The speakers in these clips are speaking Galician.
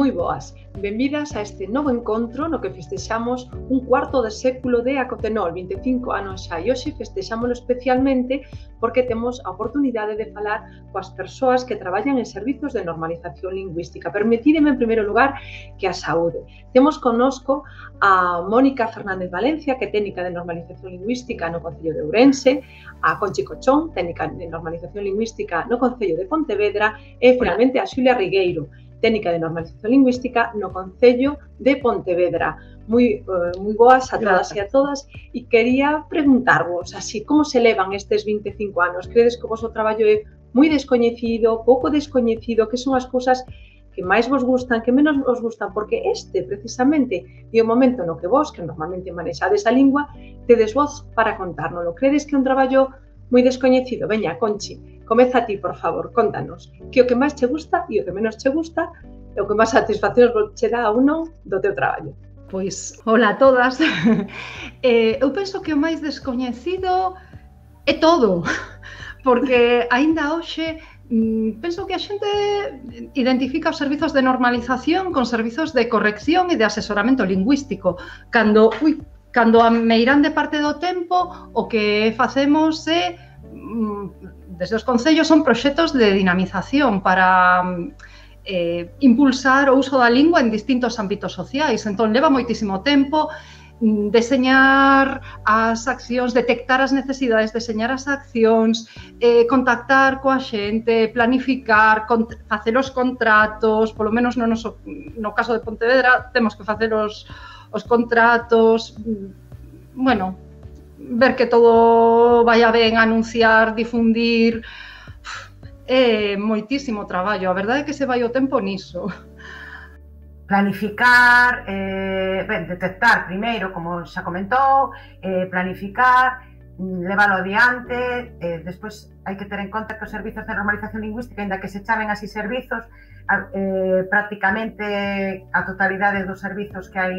Moi boas, benvidas a este novo encontro no que festexamos un cuarto de século de Acotenol, 25 anos xa, e hoxe festexámoslo especialmente porque temos a oportunidade de falar coas persoas que traballan en servizos de normalización lingüística. Permitídeme, en primeiro lugar, que a saúde. Temos connosco a Mónica Fernández Valencia, que é técnica de normalización lingüística no Concello de Ourense, a Conchi Cochón, técnica de normalización lingüística no Concello de Pontevedra, e, finalmente, a Xulia Rigueiro, técnica de normalización lingüística no Concello de Pontevedra. Moi boas a todas e a todas, e quería preguntarvos, así, como se levan estes 25 anos? Credes que o vosso traballo é moi descoñecido, pouco descoñecido? Que son as cousas que máis vos gustan, que menos vos gustan? Porque este, precisamente, é o momento no que vos, que normalmente manexades a lingua, tedes voz para contárnoslo. Credes que é un traballo moi descoñecido? Veña, Conchi, comeza a ti, por favor, contanos que o que máis che gusta e o que menos che gusta e o que máis satisfaccións che dá ou non do teu traballo. Pois, hola a todas. Eu penso que o máis descoñecido é todo, porque aínda hoxe penso que a xente identifica os servizos de normalización con servizos de corrección e de asesoramento lingüístico, cando a meirande parte do tempo o que facemos é, desde os concellos, son proxectos de dinamización para impulsar o uso da lingua en distintos ámbitos sociais. Entón, leva moitísimo tempo deseñar as accións, detectar as necesidades, deseñar as accións, contactar coa xente, planificar, facer os contratos, polo menos no caso de Pontevedra temos que facer os contratos, bueno, ver que todo vaya ben, anunciar, difundir. É moitísimo traballo, a verdade é que se vai o tempo niso. Planificar, detectar primeiro, como xa comentou, planificar, leválo adiante, despois hai que ter en conta que os servizos de normalización lingüística, ainda que se chamen así servizos, prácticamente a totalidade dos servizos que hai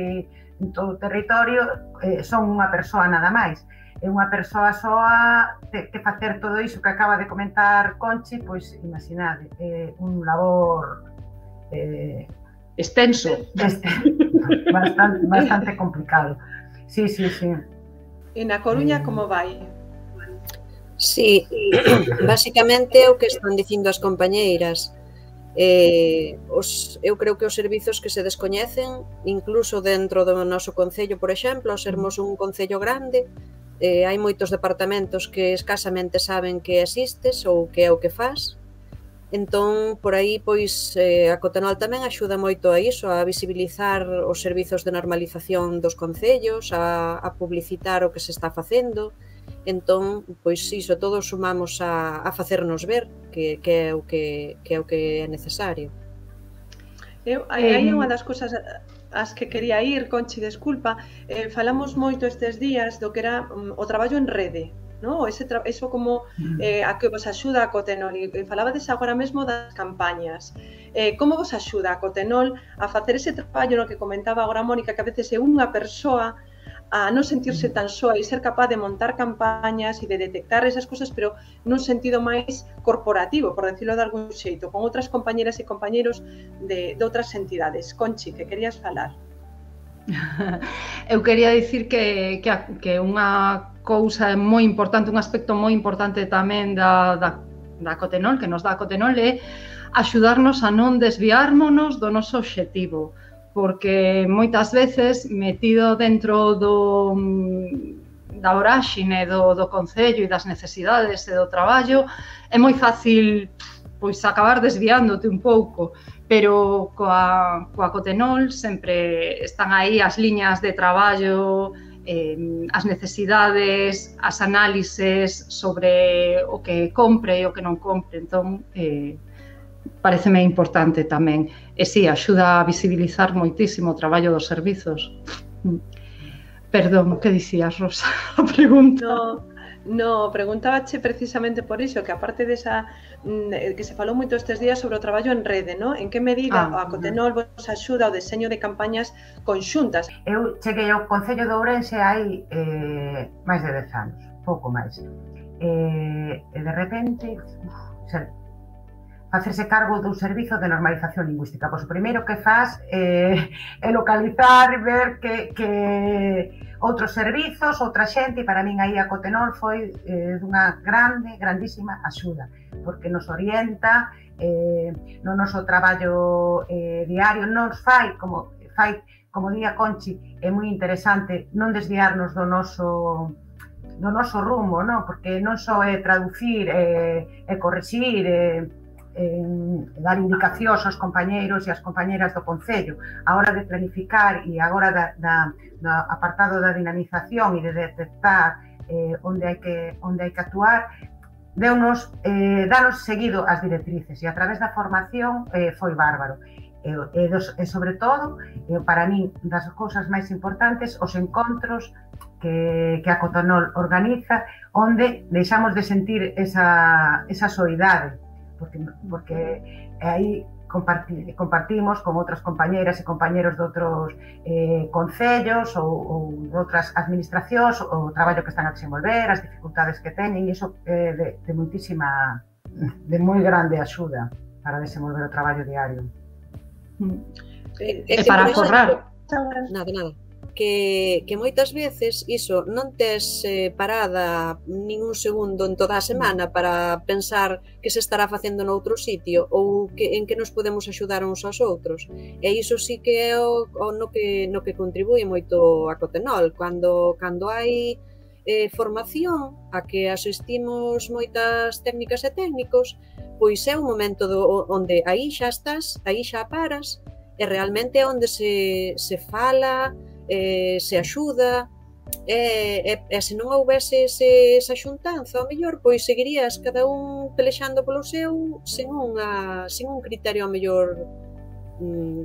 en todo o territorio son unha persoa nada máis. É unha persoa soa que facer todo iso que acaba de comentar Conchi, pois imaginade, é un labor extenso, bastante complicado. Sí. E na Coruña como vai? Sí, basicamente o que están dicindo as compañeiras. Eu creo que os servizos que se descoñecen, incluso dentro do noso concello, por exemplo, ao sermos un concello grande, hai moitos departamentos que escasamente saben que existes ou que é o que fas. Entón, por aí, pois, a Acotenol tamén axuda moito a iso, a visibilizar os servizos de normalización dos concellos, a publicitar o que se está facendo. Entón, pois iso, todos sumamos a facernos ver que é o que é necesario. Hai unha das cousas as que quería ir, Conchi, desculpa, falamos moito estes días do que era o traballo en rede, no? Eso como a que vos axuda a Acotenol, e falabades agora mesmo das campañas. Como vos axuda a Acotenol a facer ese traballo no que comentaba agora Mónica, que a veces é unha persoa a non sentirse tan soa e ser capaz de montar campañas e de detectar esas cousas, pero nun sentido máis corporativo, por decirlo de algún xeito, con outras compañeras e compañeros de outras entidades. Conchi, que querías falar? Eu quería dicir que unha cousa moi importante, un aspecto moi importante tamén da Acotenol, que nos dá Acotenol, é axudarnos a non desviármonos do noso obxectivo, porque moitas veces, metido dentro da voráxine do concello e das necesidades e do traballo, é moi fácil pois acabar desviándote un pouco, pero coa Acotenol sempre están aí as liñas de traballo, as necesidades, as análises sobre o que compre e o que non compre. Entón, pareceme importante tamén. E si, axuda a visibilizar moitísimo o traballo dos servizos. Perdón, que dicías, Rosa? A pregunta. No, preguntábache precisamente por iso, que aparte desa que se falou moito estes días sobre o traballo en rede, no? En que medida a Acotenol vos axuda ao deseño de campañas conxuntas? Eu cheguei ao Concello de Ourense hai máis de 10 anos, pouco máis. E de repente, facerse cargo do servizo de normalización lingüística. Pois o primeiro que faz é localizar, ver que outros servizos, outra xente, e para min aí a Cotenol foi dunha grandísima axuda, porque nos orienta no noso traballo diario, nos fai, como di a Conchi, é moi interesante non desviarnos do noso rumbo, non? Porque non só é traducir e correxir, dar indicacións aos compañeiros e ás compañeras do Concello. A hora de planificar e agora do apartado da dinamización e de detectar onde hai que actuar, danos seguido as directrices, e a través da formación foi bárbaro. E sobre todo, para min, das cousas máis importantes, os encontros que a Cotenol organiza, onde deixamos de sentir esa soidade, porque aí compartimos con outras compañeras e compañeros de outros concellos ou de outras administracións o traballo que están a desenvolver, as dificultades que teñen, e iso é de moi grande axuda para desenvolver o traballo diario. E para forrar. Nada. Que moitas veces iso non tes parada nin un segundo en toda a semana para pensar que se estará facendo noutro sitio ou en que nos podemos axudar uns aos outros, e iso sí que é no que contribúe moito a Cotenol. Cando hai formación a que asistimos moitas técnicas e técnicos, pois é un momento onde aí xa estás, aí xa paras, e realmente é onde se fala, se axuda, e se non houvese esa xuntanza, ao mellor, pois seguirías cada un pelexando polo seu sen un criterio ao mellor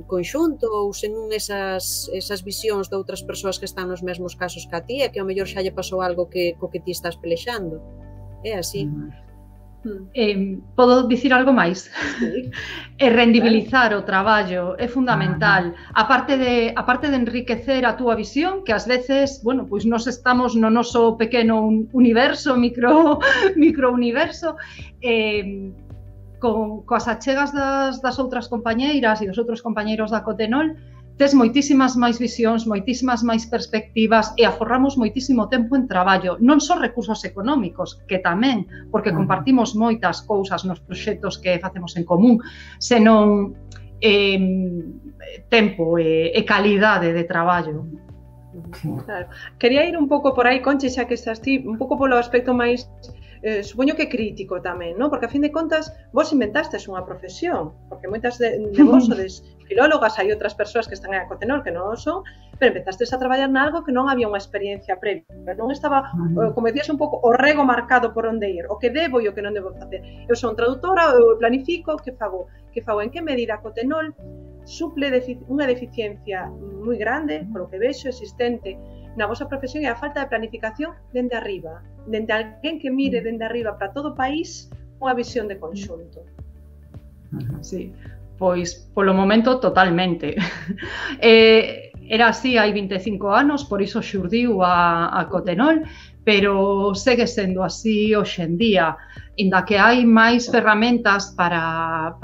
conxunto, ou sen esas visións de outras persoas que están nos mesmos casos que a ti, e que ao mellor xa lle pasou algo co que ti estás pelexando. É así. Podo dicir algo máis? Sí. Rendibilizar o traballo é fundamental. A parte de enriquecer a túa visión, que ás veces, bueno, pois nos estamos no noso pequeno universo, microuniverso, coas achegas das outras compañeiras e dos outros compañeiros da Cotenol, tes moitísimas máis visións, moitísimas máis perspectivas, e aforramos moitísimo tempo en traballo, non só recursos económicos, que tamén, porque compartimos moitas cousas nos proxectos que facemos en común, senón tempo e calidade de traballo. Claro. Quería ir un pouco por aí, Conchi, xa que estás ti, un pouco polo aspecto máis supoño que crítico tamén, non? Porque a fin de contas vos inventastes unha profesión, porque moitas de vos sodes filólogas, hai outras persoas que están en a Cotenol que non o son, pero empezastes a traballar nalgo que non había unha experiencia previa, non estaba, como decías, un pouco o rego marcado por onde ir, o que debo e o que non debo facer. Eu son traductora, eu planifico, que fago, en que medida a Cotenol suple unha deficiencia moi grande, polo que vexo, existente na vosa profesión, é a falta de planificación dende arriba, dende alguén que mire dende arriba para todo o país unha visión de conxunto. Sí, pois polo momento totalmente. Era así hai 25 anos, por iso xurdiu a Cotenol, pero segue sendo así hoxe en día, inda que hai máis ferramentas para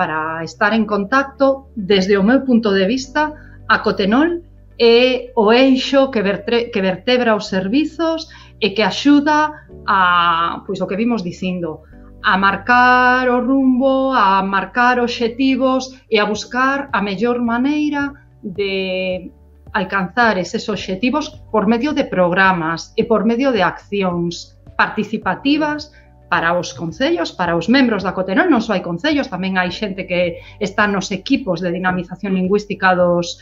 estar en contacto. Desde o meu punto de vista, a Cotenol é o eixo que vertebra os servizos e que axuda a, pois o que vimos dicindo, a marcar o rumbo, a marcar obxectivos e a buscar a mellor maneira de alcanzar eses obxectivos por medio de programas e por medio de accións participativas para os concellos, para os membros da Cotenol. Non só hai concellos, tamén hai xente que está nos equipos de dinamización lingüística dos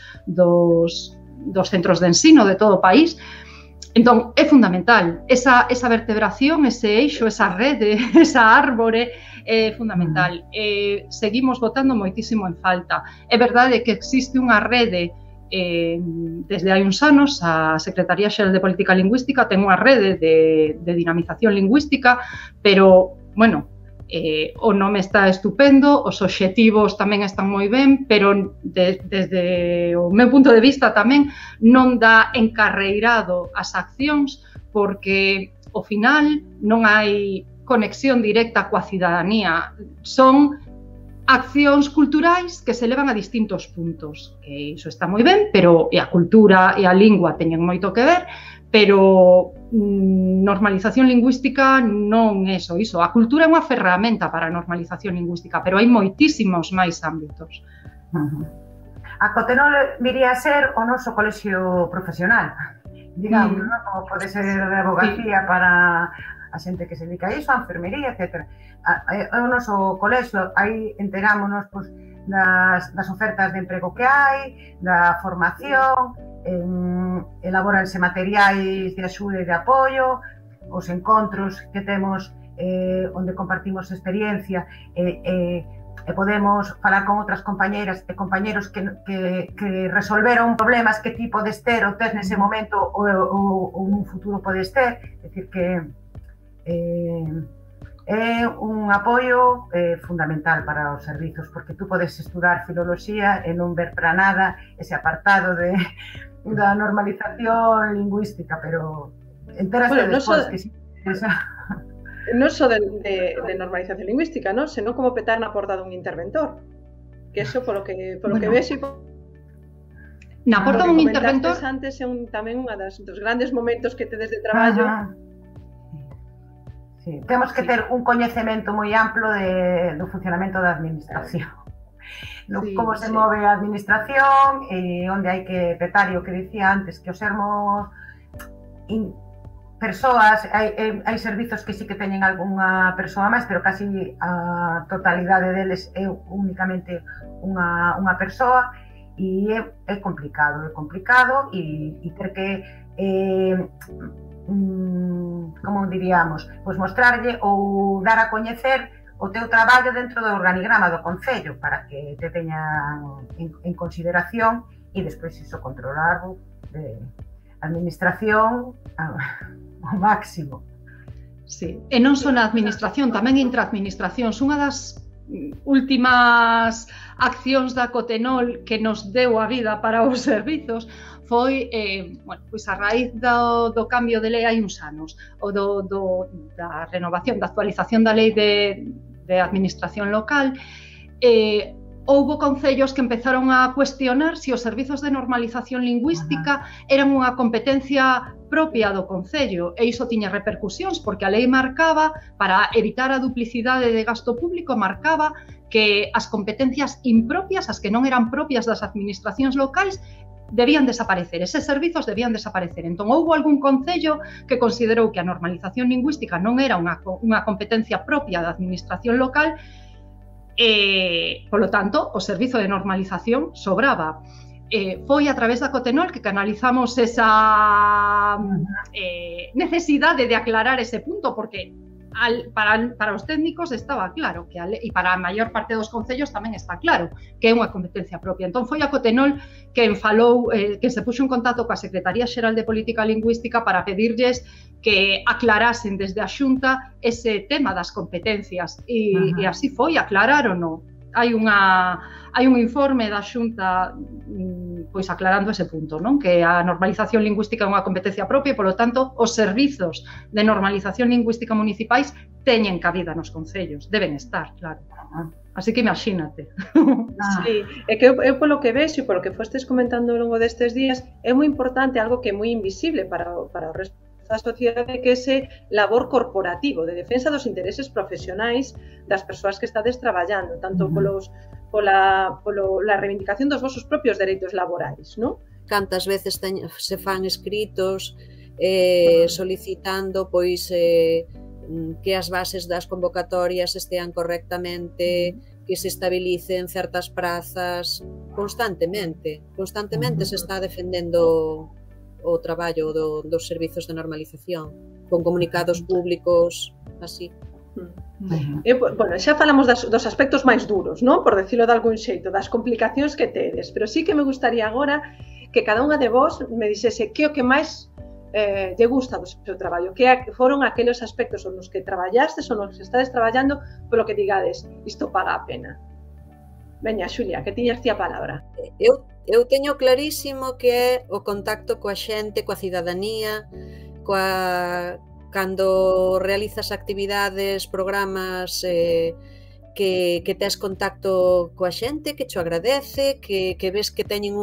centros de ensino de todo o país. Entón, é fundamental esa vertebración, ese eixo, esa rede, esa árbore, é fundamental. Seguimos botando moitísimo en falta. É verdade que existe unha rede desde hai uns anos, a Secretaría Xeral de Política Lingüística ten unha rede de dinamización lingüística, pero, bueno, o nome está estupendo, os obxectivos tamén están moi ben, pero desde o meu punto de vista tamén non dá encarreirado as accións, porque ao final non hai conexión directa coa cidadanía. Son accións culturais que se levan a distintos puntos, que iso está moi ben, pero a cultura e a lingua teñen moito que ver, pero normalización lingüística non é iso. A cultura é unha ferramenta para a normalización lingüística, pero hai moitísimos máis ámbitos. A Cotenol viría a ser o noso colexio profesional, digamos, ¿no? Como pode ser de abogacía para a xente que se dedica a iso, a enfermería, etc. O noso colexio, aí enterámonos das ofertas de emprego que hai, da formación, elaboranse materiais de axuda e de apoio, os encontros que temos onde compartimos experiencia e podemos falar con outras compañeiras e compañeros que resolveron problemas que ti podes ter ou tes nese momento ou nun futuro podes ter. É dicir que é un apoio fundamental para os servizos, porque tú podes estudar filoloxía e non ver para nada ese apartado da normalización lingüística, pero enteraste despois que sí. Non só de normalización lingüística, non? Senón como petar na porta dun interventor. Que eso, polo que vexo, na porta dun interventor antes é tamén un dos grandes momentos que tedes de traballo. Sí, temos que ter un coñecemento moi amplo do funcionamento da administración. Como se move a administración e onde hai que petar, e o que dicía antes, que os sermos persoas, hai servizos que sí que teñen algunha persoa máis, pero casi a totalidade deles é únicamente unha persoa, e é complicado e ter que como diríamos, pois mostrarlle ou dar a coñecer o teu traballo dentro do organigrama do Concello para que te teñan en consideración e despois iso controlarlo de administración ao máximo. Sí, e non só na administración, tamén intraadministracións. Unha das últimas accións da Cotenol que nos deu a vida para os servizos foi, pois a raíz do cambio de lei hai uns anos, ou da renovación, da actualización da lei de administración local, houbo concellos que empezaron a cuestionar se os servizos de normalización lingüística eran unha competencia propia do concello, e iso tiña repercusións porque a lei marcaba, para evitar a duplicidade de gasto público, marcaba que as competencias impropias, as que non eran propias das administracións locais, debían desaparecer, eses servizos debían desaparecer. Entón, houbo algún concello que considerou que a normalización lingüística non era unha competencia propia da administración local e, polo tanto, o servizo de normalización sobraba. Foi a través da Cotenol que canalizamos esa necesidade de aclarar ese punto, porque para os técnicos estaba claro que e para a maior parte dos concellos tamén está claro que é unha competencia propia. Entón foi a Cotenol que que se puxo en contacto coa Secretaría Xeral de Política Lingüística para pedirlles que aclarasen desde a Xunta ese tema das competencias e así foi, aclararon. Hai un informe da Xunta pois aclarando ese punto, non? Que a normalización lingüística é unha competencia propia e, polo tanto, os servizos de normalización lingüística municipais teñen cabida nos concellos, deben estar, claro. Así que imagínate. Sí, é que eu polo que vexo e polo que fostes comentando ao longo destes días, é moi importante algo que é moi invisible para o resto da sociedade, que é ese labor corporativo de defensa dos intereses profesionais das persoas que estades traballando, tanto pola reivindicación dos vosos propios dereitos laborais, non? Cantas veces se fan escritos solicitando pois que as bases das convocatorias estean correctamente, que se estabilicen certas prazas constantemente se está defendendo o traballo dos servizos de normalización, con comunicados públicos, así. Bueno, xa falamos dos aspectos máis duros, non? Por decirlo de algún xeito, das complicacións que tedes, pero sí que me gustaría agora que cada unha de vos me dixese que o que máis lle gusta do seu traballo, que foron aqueles aspectos nos que traballastes ou nos que estades traballando polo que digades, isto paga a pena. Veña, Xulia, que tiñas ti a palabra. Eu teño clarísimo que é o contacto coa xente, coa cidadanía, cando realizas actividades, programas que tes contacto coa xente, que cho agradece, que ves que teñen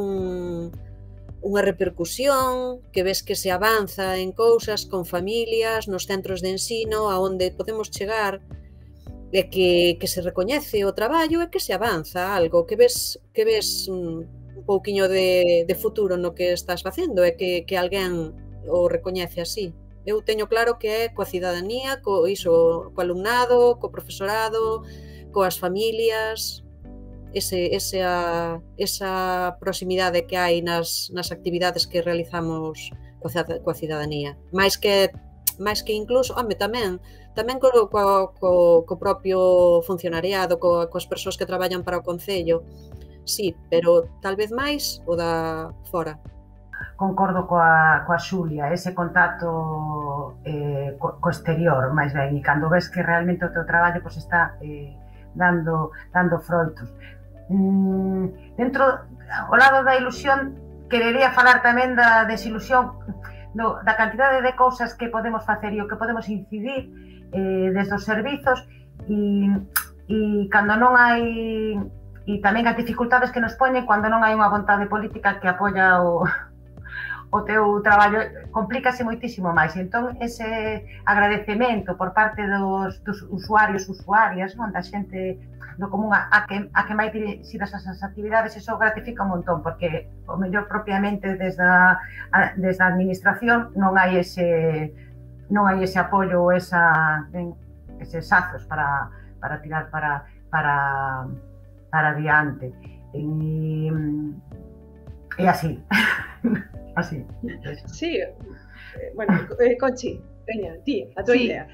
unha repercusión, que ves que se avanza en cousas con familias, nos centros de ensino, a onde podemos chegar, e que se recoñece o traballo e que se avanza algo, que ves un pouquiño de futuro no que estás facendo e que alguén o recoñece así. Eu teño claro que é coa cidadanía, co alumnado, co profesorado, coas familias, esa proximidade que hai nas actividades que realizamos coa cidadanía. Máis que incluso, tamén co propio funcionariado, coas persoas que traballan para o Concello, sí, pero tal vez máis o da fora. Concordo coa Xulia, ese contacto co exterior, máis ben, e cando ves que realmente o teu traballo está dando froitos. Dentro, ao lado da ilusión, querería falar tamén da desilusión, da cantidade de cousas que podemos facer e o que podemos incidir desde os servizos, e cando non hai, e tamén as dificultades que nos poñen cando non hai unha vontade política que apoia o teu traballo, complícase moitísimo máis. Entón, ese agradecemento por parte dos usuarios, usuarias, da xente do común a que máis dirixidas esas actividades, eso gratifica un montón, porque o mellor propiamente desde a administración non hai ese apoio ou eses azos para tirar para adiante. E así. Así. Sí, bueno, Conchi, veña, ti, a tua idea.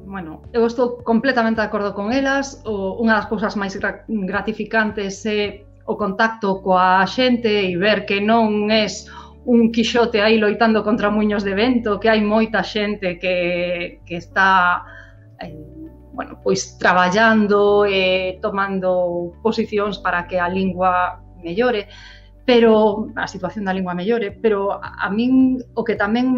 Bueno, eu estou completamente de acordo con elas. Unha das cousas máis gratificantes é o contacto coa xente e ver que non és un quixote aí loitando contra muiños de vento, que hai moita xente que está pois traballando e tomando posicións para que a lingua mellore. Pero a situación da lingua mellore, pero a min o que tamén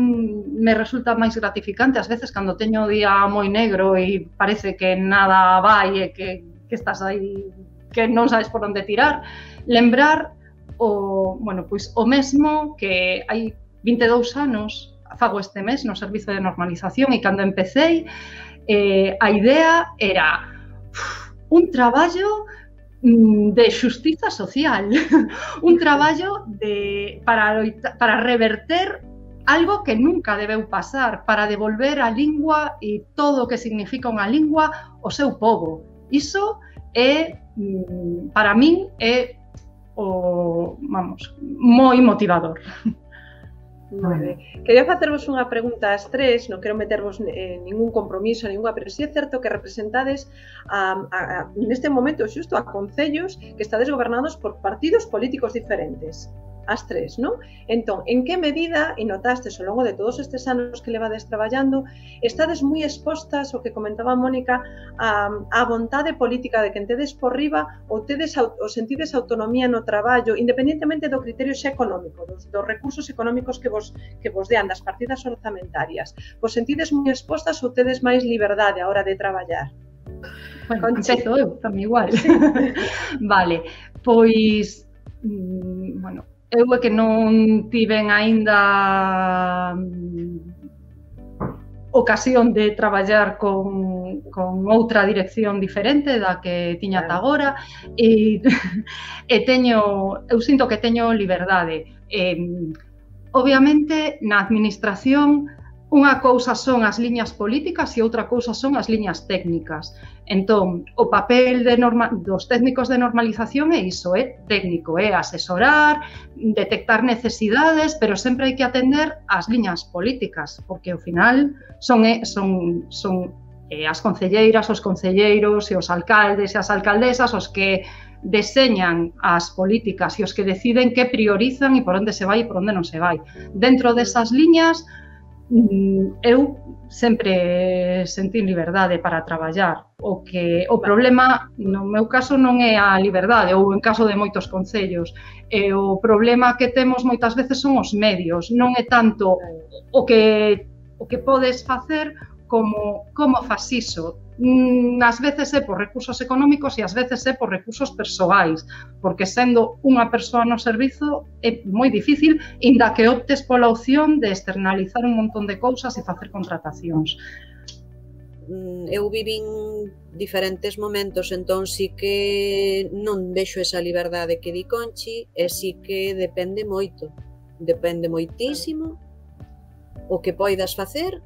me resulta máis gratificante ás veces cando teño o día moi negro e parece que nada vai e que estás aí, que non sabes por onde tirar, lembrar o mesmo que hai 22 anos, fago este mes no servizo de normalización, e cando empecéi a idea era un traballo de xustiza social, un traballo para reverter algo que nunca debeu pasar, para devolver a lingua e todo o que significa unha lingua ao seu pobo. Iso é, para min, é moi motivador. Quería facervos unha pregunta ás tres, non quero metervos en ningún compromiso, pero sí é certo que representades neste momento xusto a concellos que estades gobernados por partidos políticos diferentes, as tres, non? Entón, en que medida, e notastes ao longo de todos estes anos que levades traballando, estades moi expostas, o que comentaba Mónica, a vontade política de que tedes por riba ou sentides autonomía no traballo, independentemente do criterio xa económico, dos recursos económicos que vos dean, das partidas orzamentarias. Vos sentides moi expostas ou tedes máis liberdade a hora de traballar? Bueno, empezo eu, tamén igual. Vale, pois, eu é que non tiven aínda ocasión de traballar con outra dirección diferente da que tiña ata agora, e eu sinto que teño liberdade. Obviamente, na administración, unha cousa son as liñas políticas e outra cousa son as liñas técnicas. Entón, o papel dos técnicos de normalización é iso, é técnico, é asesorar, detectar necesidades, pero sempre hai que atender ás liñas políticas, porque ao final son as concelleiras, os concelleiros e os alcaldes e as alcaldesas os que deseñan as políticas e os que deciden que priorizan e por onde se vai e por onde non se vai. Dentro desas liñas, eu sempre sentín liberdade para traballar. O problema, no meu caso, non é a liberdade, ou en caso de moitos concellos. O problema que temos moitas veces son os medios, non é tanto o que podes facer como fas iso. Ás veces é por recursos económicos e ás veces é por recursos persoais, porque sendo unha persoa no servizo é moi difícil, inda que optes pola opción de externalizar un montón de cousas e facer contratacións. Eu vivín diferentes momentos, entón sí que non vexo esa liberdade que di Conchi, e sí que depende moito, depende moitísimo o que poidas facer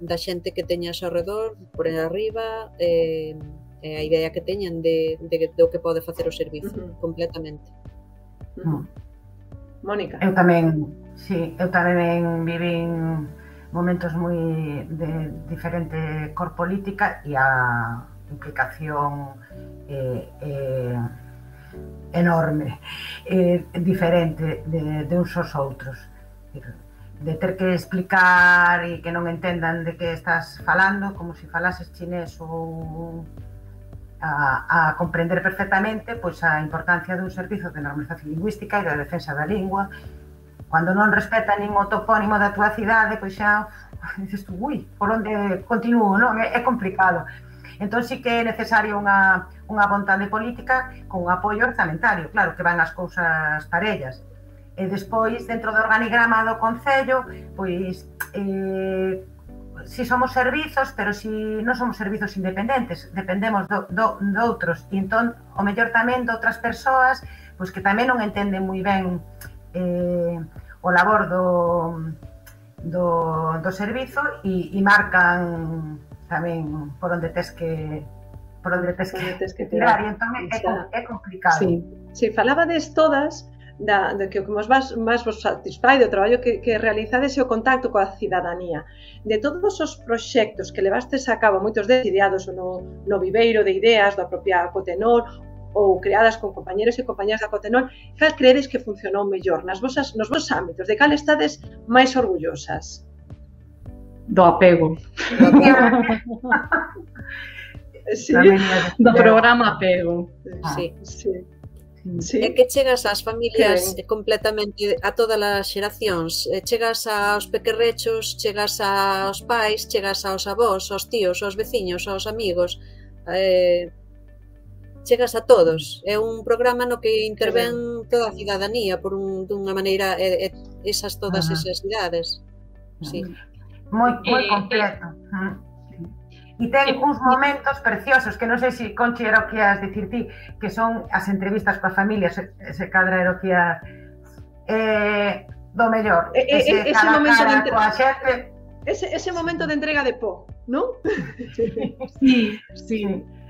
da xente que teñas ao redor, por arriba, a idea que teñan do que pode facer o servizo, completamente. Mónica. Eu tamén vivín momentos moi de diferente cor política e a implicación enorme, diferente de uns aos outros. De ter que explicar e que non entendan de que estás falando, como se falases chinés ou a comprender perfectamente pois a importancia dun servizo de normalización lingüística e da defensa da lingua. Cando non respeta nin o topónimo da tua cidade, pois xa dices tú, ui, por onde continuo, non? É complicado. Entón sí que é necesario unha vontade política con un apoio orzamentario, claro, que van as cousas parellas. E despois, dentro do organigrama do Concello, pois, si somos servizos, pero si non somos servizos independentes, dependemos de outros, e entón, o mellor tamén de outras persoas, pois que tamén non entenden moi ben o labor do servizo e marcan tamén por onde tes que tirar, e entón é complicado. Si falabades todas de que o que máis vos satisfai do traballo que realizades é o contacto coa cidadanía. De todos os proxectos que levastes a cabo, moitos deles ideados no viveiro de ideas da propia Acotenol ou creadas con compañeros e compañeras da Acotenol, cal credes que funcionou mellor nos vosos ámbitos? De cal estades máis orgullosas? Do apego. Do programa Apego. É que chegas ás familias completamente, a todas as xeracións, chegas aos pequerrechos, chegas aos pais, chegas aos avós, aos tíos, aos veciños, aos amigos, chegas a todos. É un programa no que intervén toda a cidadanía dunha maneira, todas esas idades. Moi completo. E ten uns momentos preciosos que non sei se Conchi era o que ias dicir ti, que son as entrevistas coas familias, se cadra era o que ias do mellor, ese momento coa xente, ese momento de entrega de po, non? Sí.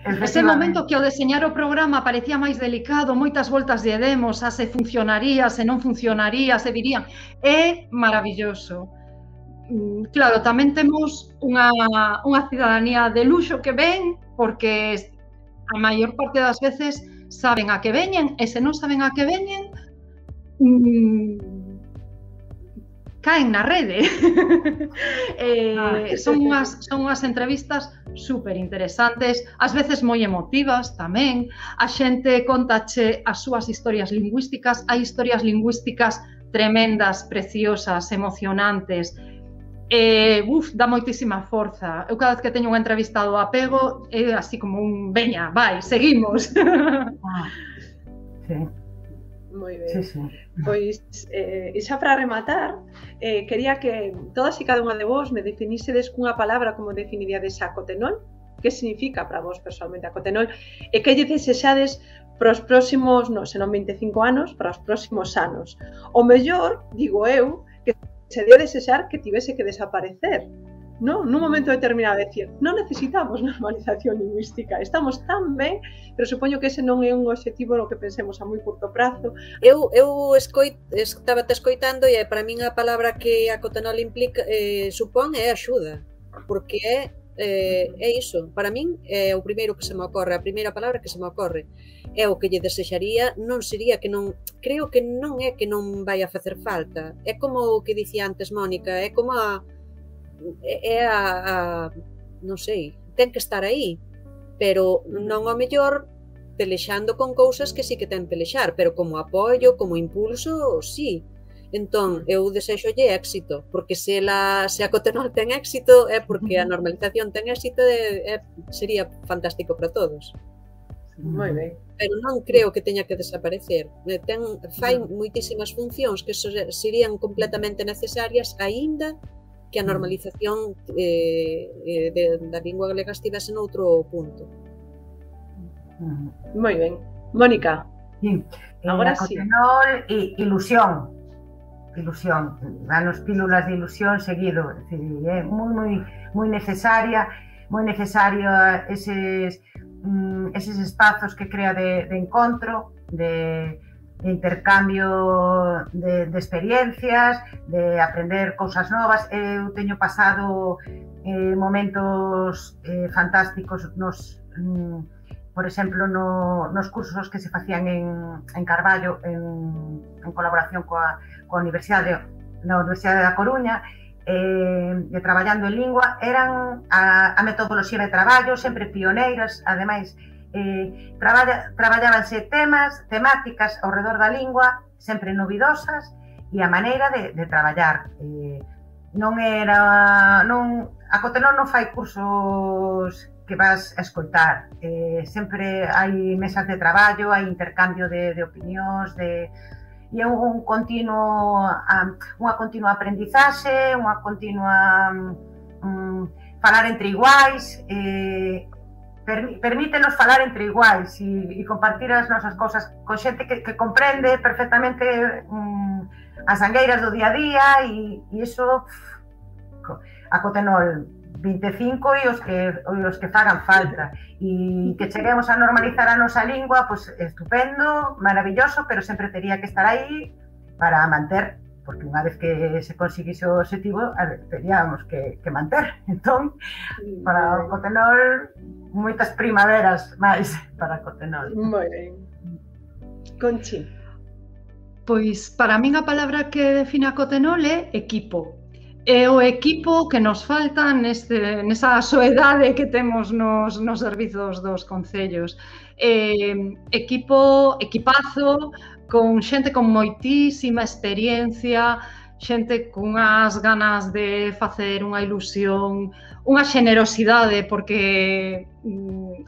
Ese momento que ao deseñar o programa parecía máis delicado, moitas voltas lle demos, se funcionaría, se non funcionaría, se dirían, é maravilloso. Claro, tamén temos unha cidadanía de luxo que ven, porque a maior parte das veces saben a que veñen, e se non saben a que veñen, caen na rede. Son unhas entrevistas super interesantes, ás veces moi emotivas tamén. A xente contache as súas historias lingüísticas, hai historias lingüísticas tremendas, preciosas, emocionantes. Dá moitísima forza. Eu cada vez que teño unha entrevista do Apego é así como un veña, vai, seguimos. Moi ben. Pois, xa para rematar, quería que todas e cada unha de vos me definísedes cunha palabra como definiríades a Acotenol, que significa para vos personalmente Acotenol, e que lle desexades para os próximos, se non 25 anos, para os próximos anos. O mellor, digo eu, sería desexar que tivese que desaparecer, non? Nun momento determinado, decir, non necesitamos normalización lingüística, estamos tan ben, pero supoño que ese non é un obxectivo no que pensemos a moi curto prazo. Eu estaba te escoitando e para min a palabra que a Acotenol implica, supón é axuda, porque é iso, para min é o primeiro que se me ocorre, a primeira palabra que se me ocorre. É o que lle desexaría, non sería que non, creo que non é que non vai a facer falta, é como o que dicía antes Mónica, é como non sei, ten que estar aí, pero non ao mellor pelexando con cousas que sí que ten pelexar, pero como apoio, como impulso, sí. Entón, eu desexolle éxito, porque se a Cotenol ten éxito é porque a normalización ten éxito e sería fantástico para todos. Moi ben. Pero non creo que teña que desaparecer. Fai moitísimas funcións que serían completamente necesarias aínda que a normalización da lingua galega estivese noutro punto. Moi ben. Mónica. Sí. Agora a sí. Cotenol, ilusión. Danos pílulas de ilusión seguido. É dicir, é moi necesario eses espazos que crea de encontro, de intercambio de experiencias, de aprender cousas novas. Eu teño pasado momentos fantásticos por exemplo, nos cursos que se facían en Carballo en colaboración coa Universidade da Coruña, e traballando en lingua, eran a metodoloxía de traballo, sempre pioneiras, ademais, traballábanse temáticas ao redor da lingua, sempre novidosas, e a maneira de traballar. A Cotenol non fai cursos que vas a escoitar, sempre hai mesas de traballo, hai intercambio de opinións, e é unha continua aprendizaxe, unha continua falar entre iguais, permítenos falar entre iguais e compartir as nosas cousas con xente que comprende perfectamente as angueiras do día a día, e iso a Cotenol 25 e os que fagan falta, e que cheguemos a normalizar a nosa lingua, pois estupendo, maravilloso, pero sempre tería que estar aí para manter, porque unha vez que se conseguise o objetivo, teríamos que manter. Entón, para o Cotenol, moitas primaveras máis para Cotenol. Moi ben. Conchi. Pois, para min a palabra que define a Cotenol é equipo. É o equipo que nos falta nesa soedade que temos nos servizos dos concellos. Equipazo, con xente con moitísima experiencia, xente cunhas ganas de facer unha ilusión, unha xenerosidade, porque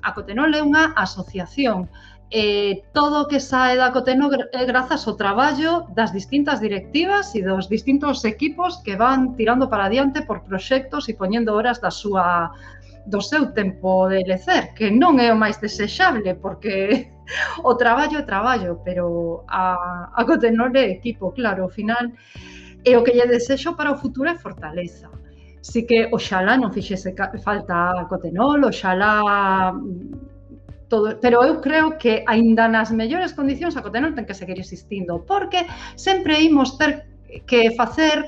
a Cotenol é unha asociación. Todo o que sae da Cotenol é grazas ao traballo das distintas directivas e dos distintos equipos que van tirando para adiante por proxectos e poñendo horas do seu tempo de lecer, que non é o máis desexable, porque o traballo é traballo, pero a Cotenol é equipo, claro, ao final. E o que lle desexo para o futuro é fortaleza. Si que oxalá non fixese falta a Cotenol, oxalá todo, pero eu creo que aínda nas mellores condicións a Cotenol ten que seguir existindo, porque sempre imos ter que facer,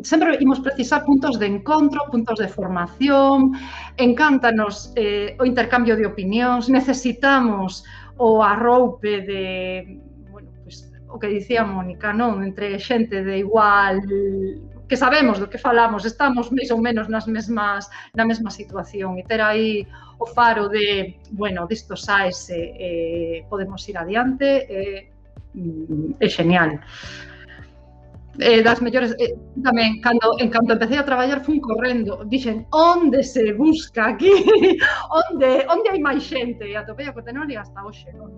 sempre imos precisar puntos de encontro, puntos de formación, encántanos o intercambio de opinións, necesitamos o arroupe de, bueno, pues, o que dicía Mónica, non? Entre xente de igual, que sabemos do que falamos, estamos máis ou menos na mesma situación, e ter aí o faro de, bueno, disto saese, podemos ir adiante, é genial. Das mellores, tamén, en canto empecé a traballar, fun correndo, dixen, onde se busca aquí? Onde hai máis xente? E atopei a Cotenol e hasta hoxe, non?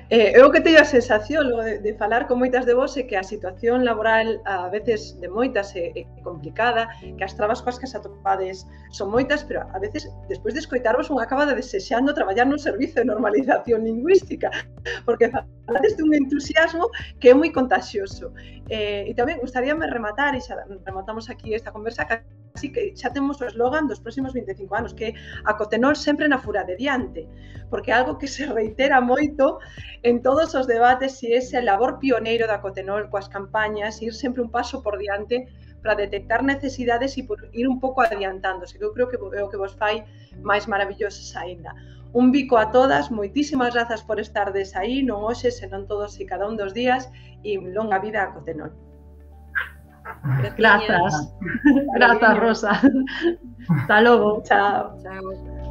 Eu que teño a sensación de falar con moitas de vos é que a situación laboral a veces de moitas é complicada, que as trabas coas que se atopades son moitas, pero a veces, despois de escoitarvos, un acaba de desexando traballar nun servizo de normalización lingüística, porque falades dun entusiasmo que é moi contagioso. E tamén gustaríame rematar, e xa rematamos aquí esta conversa, así que xa temos o eslogan dos próximos 25 anos, que é a Cotenol sempre na fura de diante, porque é algo que se reitera moito en todos os debates, e ese labor pioneiro da Cotenol coas campañas, ir sempre un paso por diante para detectar necesidades e por ir un pouco adiantándose, que eu creo que é o que vos fai máis maravillosos aínda. Un bico a todas, moitísimas grazas por estardes aí, non hoxe, senón todos e cada un dos días, e longa vida a Cotenol. Grazas, Rosa. Hasta logo. Chao. Chao.